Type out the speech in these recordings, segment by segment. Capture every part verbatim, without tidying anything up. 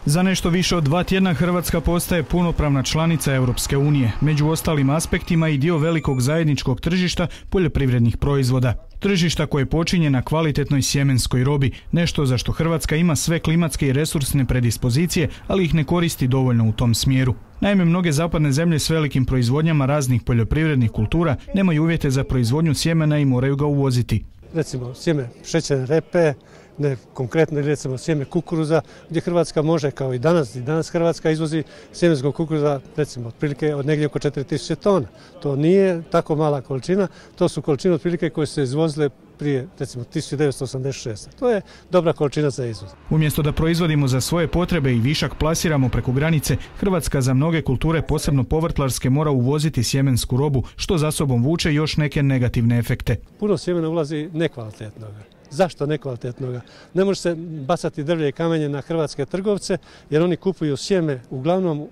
Za nešto više od dva tjedna Hrvatska postaje punopravna članica Europske unije, među ostalim aspektima i dio velikog zajedničkog tržišta poljoprivrednih proizvoda. Tržišta koje počinje na kvalitetnoj sjemenskoj robi, nešto za što Hrvatska ima sve klimatske i resursne predispozicije, ali ih ne koristi dovoljno u tom smjeru. Naime, mnoge zapadne zemlje s velikim proizvodnjama raznih poljoprivrednih kultura nemaju uvjete za proizvodnju sjemena i moraju ga uvoziti. Recimo sjeme šećerne repe, ne konkretno recimo sjeme kukuruza, gdje Hrvatska može kao i danas, i danas Hrvatska izvozi sjemenskog kukuruza recimo otprilike od negdje oko četiri tisuće tona. To nije tako mala količina, to su količine otprilike koje su se izvozile prije recimo tisuću devetsto osamdeset šeste. To je dobra količina za izvoz. Umjesto da proizvodimo za svoje potrebe i višak plasiramo preko granice, Hrvatska za mnoge kulture, posebno povrtlarske, mora uvoziti sjemensku robu, što za sobom vuče još neke negativne efekte. Puno sjemena ulazi nekvalitetnog. Zašto nekvalitetnoga? Ne može se bacati drvlje i kamenje na hrvatske trgovce, jer oni kupuju sjeme uglavnom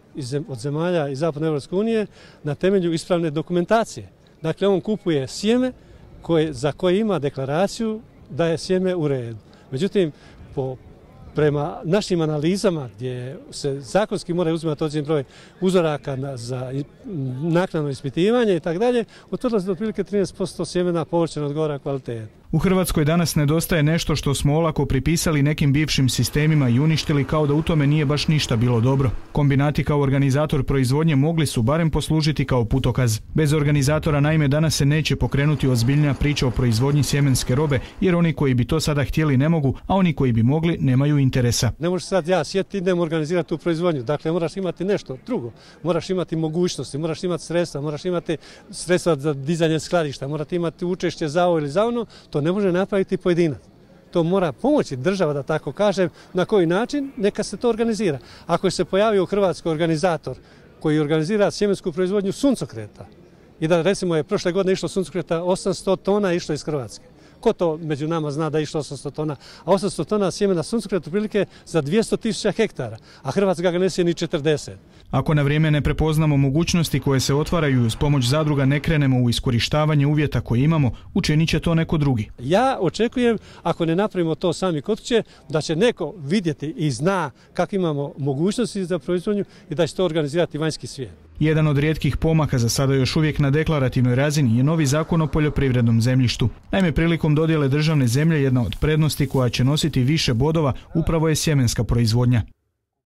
od zemalja iz Zapadne Europske unije na temelju ispravne dokumentacije. Dakle, on kupuje sjeme koje, za koje ima deklaraciju da je sjeme u redu. Međutim, po prema našim analizama gdje se zakonski mora uzimati određeni broj uzoraka za naknadno ispitivanje i tako dalje, utvrdilo se da otprilike trinaest posto sjemena povrća ne odgovara kvaliteti. U Hrvatskoj danas nedostaje nešto što smo olako pripisali nekim bivšim sistemima i uništili, kao da u tome nije baš ništa bilo dobro. Kombinati kao organizator proizvodnje mogli su barem poslužiti kao putokaz. Bez organizatora naime danas se neće pokrenuti ozbiljnija priča o proizvodnji sjemenske robe, jer oni koji bi to sada htjeli ne mogu, a oni koji bi mogli nemaju interesa. Ne možeš sad ja sjetiti, idem organizirati tu proizvodnju. Dakle, moraš imati nešto drugo. Moraš imati mogućnosti, moraš imati sredstva, moraš imati sredstva za dizanje skladišta, morate imati učešće za ovo ili za ono. To ne može napraviti pojedinac. To mora pomoći država, da tako kažem, na koji način, neka se to organizira. Ako se pojavio u Hrvatskoj organizator koji organizira sjemensku proizvodnju suncokreta i da recimo je prošle godine išlo suncokreta osamsto tona išlo iz Hrvatske. Ko to među nama zna da je išlo osamsto tona? A osamsto tona sjemena suncokreta prilike za dvjesto tisuća hektara, a Hrvatska ga ne sije ni četrdeset. Ako na vrijeme ne prepoznamo mogućnosti koje se otvaraju i uz pomoć zadruga ne krenemo u iskorištavanje uvjeta koje imamo, učinit će to neko drugi. Ja očekujem, ako ne napravimo to sami kod kuće, da će neko vidjeti i zna kako imamo mogućnosti za proizvodnju i da će to organizirati vanjski svijet. Jedan od rijetkih pomaka, za sada još uvijek na deklarativnoj razini, je novi zakon o poljoprivrednom zemljištu. Naime, prilikom dodjele državne zemlje jedna od prednosti koja će nositi više bodova upravo je sjemenska proizvodnja.